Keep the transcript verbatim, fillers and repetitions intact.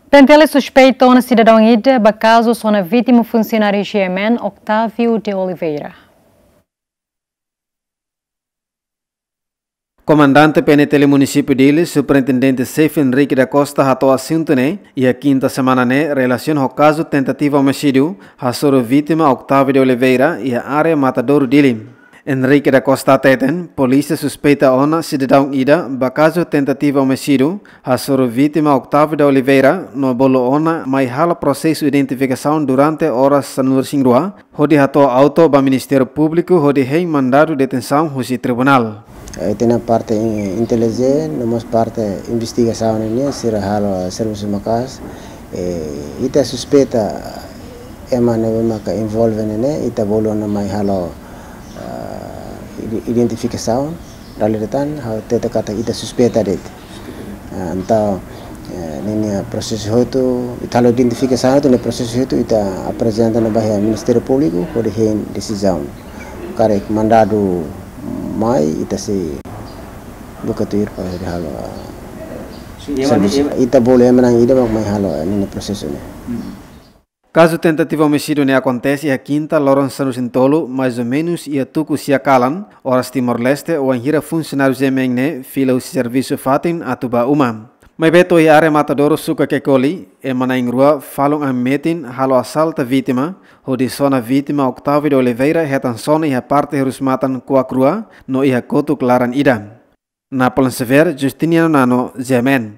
PNTL suspeita ona sidadaun ida ba kazu sona vítima funsionáriu G M N, Octávio de Oliveira. Komandante PNTL Munisípiu Dili, Superintendente Xefe Henrique da Costa hato'o asuntu ne'e iha kinta semana ne'e relasiona ho kazu tentativa omisídiu hasoru vítima Octávio de Oliveira iha área Matadouro, Dili. Henrique da Costa hateten, polísia suspeita ona sidadaun ida ba kazu tentativa omisídiu hasoru vítima Octávio de Oliveira no bolu ona mai halo prosesu identifikasaun durante oras sanulu-resin-rua, hodi hato'o auto ba Ministériu Públiku hodi hein mandadu detensaun husi tribunál. Eh, ita-nia parte in-, intelijénsia, no mós parte investigasaun ne'e, sira halo servisu maka'as. Eh, ita suspeita ema ne'ebé maka envolve ne'e, ita bolu ona mai halo, ah, ide-, identifikasaun, dala ida tan, ha'u hatete katak ita suspeita de'it. Ah, entaun, eh, ninia prosesu hotu, ita halo identifikasaun hotu, ninia prosesu hotu, ita aprezenta ona ba iha Ministériu Públiku, hodi hein desizaun. Karik mandadu mai, ita sei buka tuir para hodi halo, ah, Sim, ema servisu. Ne'e, ema- Ita bolu ema na'in ida mak mai halo, eh, ninia prosesu ne'e. Hmm. Kazu tentativa omisídiu ne'e akontese iha kinta loron sanulu-resin-tolu, mais ou menus iha tuku sia kalan, oras Timor-Leste, wainhira funsionáriu G M N ne'e fila husi servisu fatin atu ba uma. Maibé to'o iha área Matadouro, Suka Kekoli, ema na'in-rua falun an metin halo asalta vítima, hodi sona vítima Octávio de Oliveira hetan sona iha parte hirus-matan kuak rua no iha kotuk laran ida. Napoleon Xavier, Justiniano Nano, G M N.